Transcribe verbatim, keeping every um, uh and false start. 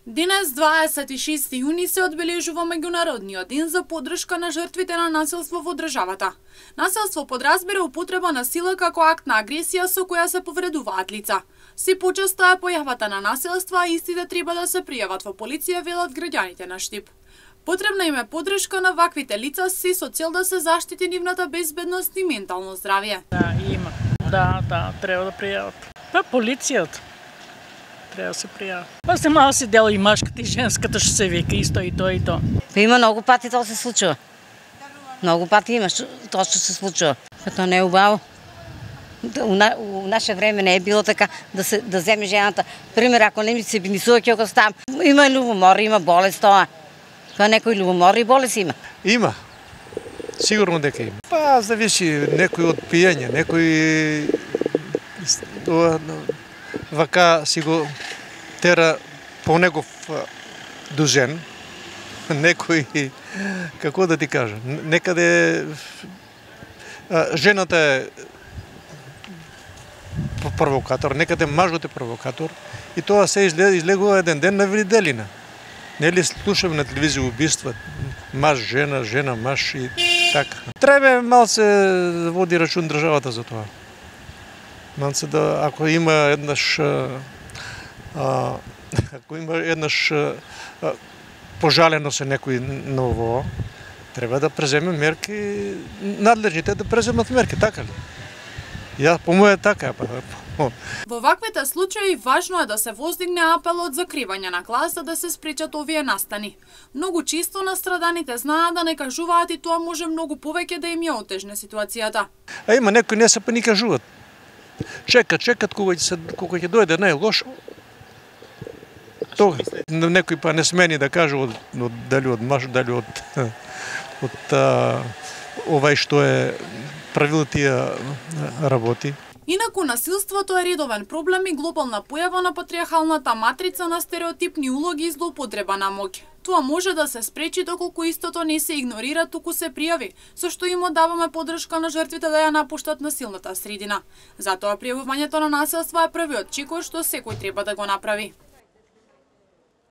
Денес, дваесет и шести јуни, се одбележува меѓународниот ден за поддршка на жртвите на насилство во државата. Насилство подразбира употреба на сила како акт на агресија со која се повредуваат лица. Се почесто е појавата на насилства, а истите треба да се пријават во полиција, велат граѓаните на Штип. Потребна им е поддршка на ваквите лица си со цел да се заштити нивната безбедност и ментално здравје. Да, има. Да, да, треба да пријават. Па полицијата треба да се пријави. Па се мало се дела и машката и женската што се вика исто и тоа и тоа. Па има многу пати тоа се случува. Многу пати има тоа што се случува. Па тоа не е убаво. У, на, у наше време не е било така да се да земе жената. Пример, ако не ми се би ми суоќе ако стам, има љубомор, има болест тоа. Па некој љубомор и болест има. Има. Сигурно дека има. Па зависи некој од пиење, некој вака си го тера по негов дужен. Некој, како да ти кажа, некаде жената е провокатор, некаде мажот е провокатор и тоа се излегува еден ден на виделина. Нели слушаме на телевизија убиства, маж, жена, жена, маж и така. Треба малце да води рачун државата за тоа. Малце да, ако има еднаш, а, ако има еднаш а, пожалено се некој ново, треба да преземе мерки, надлежните да преземат мерки, така ли? Ја по моја така, па. Во ваквите случаи важно е да се воздигне апел од закривање на глас за да се спречат овие настани. Многу често настраданите знаат да не кажуваат и тоа може многу повеќе да им ја отежне ситуацијата. А има некои не се па ни кажуваат. Чекат, чекат кога ќе кога ќе дојде најлошо. Тоа некои па не смени да кажу од, од дали од маж, дали од од а, овај што е правил тие работи. Инаку насилството е редовен проблем и глобална појава на патриархалната матрица на стереотипни улоги и злоупотреба на моќ. Тоа може да се спречи доколку истото не се игнорира, туку се пријави, со што им одаваме поддршка на жртвите да ја напуштат насилната средина. Затоа пријавувањето на насилство е првиот чекор што секој треба да го направи.